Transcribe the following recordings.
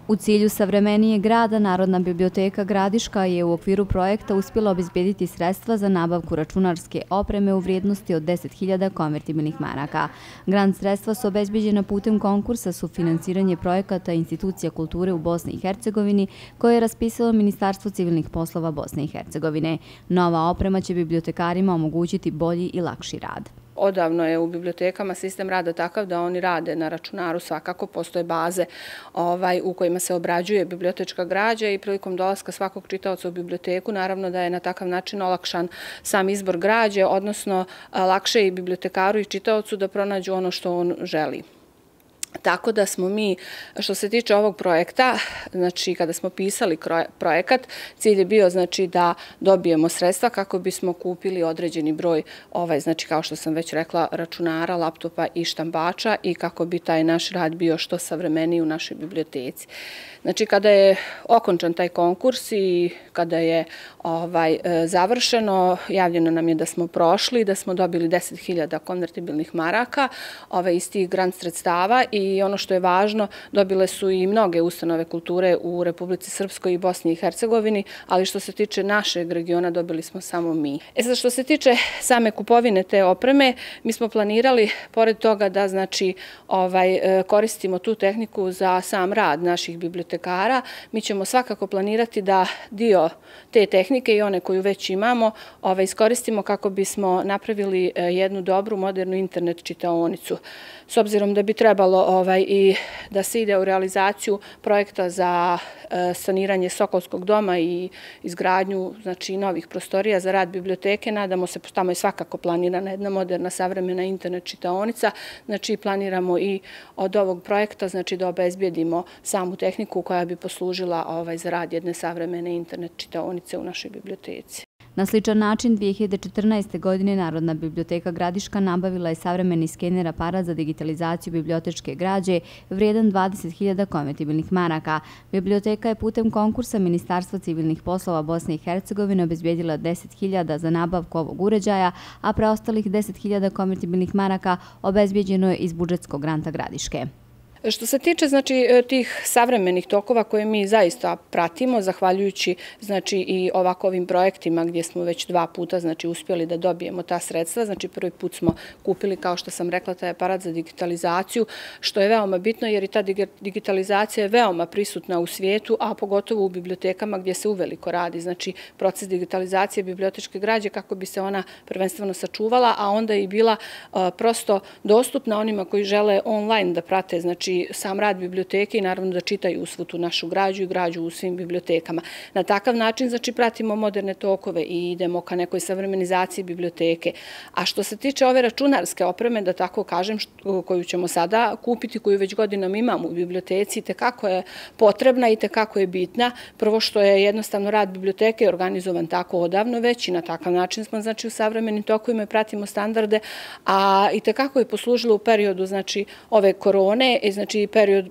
U cilju savremenijeg grada, Narodna biblioteka Gradiška je u okviru projekta uspjela obezbediti sredstva za nabavku računarske opreme u vrijednosti od 10.000 konvertibilnih maraka. Grant sredstva su obezbeđena putem konkursa sufinansiranje projekata institucija kulture u Bosni i Hercegovini koje je raspisalo Ministarstvo civilnih poslova Bosne i Hercegovine. Nova oprema će bibliotekarima omogućiti bolji i lakši rad. Odavno je u bibliotekama sistem rada takav da oni rade na računaru, svakako postoje baze u kojima se obrađuje bibliotečka građa i prilikom dolaska svakog čitaoca u biblioteku naravno da je na takav način olakšan sam izbor građe, odnosno lakše i bibliotekaru i čitaocu da pronađu ono što on želi. Tako da smo mi, što se tiče ovog projekta, znači kada smo pisali projekat, cilj je bio znači da dobijemo sredstva kako bismo kupili određeni broj, znači kao što sam već rekla, računara, laptopa i štambača i kako bi taj naš rad bio što savremeniji u našoj biblioteci. Znači kada je okončan taj konkurs i kada je završeno, javljeno nam je da smo prošli, da smo dobili 10.000 konvertibilnih maraka iz tih grant sredstava i ono što je važno, dobile su i mnoge ustanove kulture u Republici Srpskoj i Bosni i Hercegovini, ali što se tiče našeg regiona dobili smo samo mi. Sad što se tiče same kupovine te opreme, mi smo planirali, pored toga da znači koristimo tu tehniku za sam rad naših bibliotekara, mi ćemo svakako planirati da dio te tehnike i one koju već imamo iskoristimo kako bismo napravili jednu dobru, modernu internet čitaonicu. S obzirom da bi trebalo i da se ide u realizaciju projekta za saniranje Sokolskog doma i izgradnju novih prostorija za rad biblioteke, nadamo se, tamo je svakako planirana jedna moderna, savremena internet čitaonica, znači planiramo i od ovog projekta da obezbedimo samu tehniku koja bi poslužila za rad jedne savremene internet čitaonice u našoj biblioteci. Na sličan način, 2014. godine Narodna biblioteka Gradiška nabavila je savremeni skener aparat za digitalizaciju bibliotečke građe vrijedan 20.000 konvertibilnih maraka. Biblioteka je putem konkursa Ministarstva civilnih poslova Bosne i Hercegovine obezbedila 10.000 za nabavku ovog uređaja, a preostalih 10.000 konvertibilnih maraka obezbeđeno je iz budžetskog granta Gradiške. Što se tiče tih savremenih tokova koje mi zaista pratimo, zahvaljujući i ovakvim projektima gdje smo već 2 puta uspjeli da dobijemo ta sredstva, prvi put smo kupili, kao što sam rekla, taj aparat za digitalizaciju, što je veoma bitno jer i ta digitalizacija je veoma prisutna u svijetu, a pogotovo u bibliotekama gdje se uveliko radi. Znači, proces digitalizacije bibliotečke građe kako bi se ona prvenstveno sačuvala, a onda i bila prosto dostupna onima koji žele online da prate, sam rad biblioteke i naravno da čitaju svu tu našu građu i građu u svim bibliotekama. Na takav način pratimo moderne tokove i idemo ka nekoj savremenizaciji biblioteke. A što se tiče ove računarske opreme, da tako kažem, koju ćemo sada kupiti, koju već godinama imamo u biblioteci, tekako je potrebna i tekako je bitna. Prvo što je jednostavno rad biblioteke organizovan tako odavno već i na takav način smo u savremenim tokovima i pratimo standarde, a i tekako je poslužilo u periodu ove korone,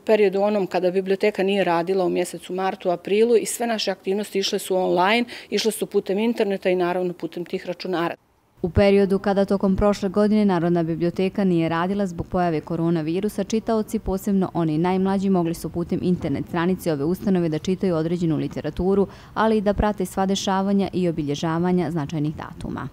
periodu onom kada biblioteka nije radila u mjesecu martu, aprilu i sve naše aktivnosti išle su online, išle su putem interneta i naravno putem tih računara. U periodu kada tokom prošle godine Narodna biblioteka nije radila zbog pojave koronavirusa, čitaoci, posebno oni najmlađi, mogli su putem internet stranice ove ustanove da čitaju određenu literaturu, ali i da prate sva dešavanja i obilježavanja značajnih datuma.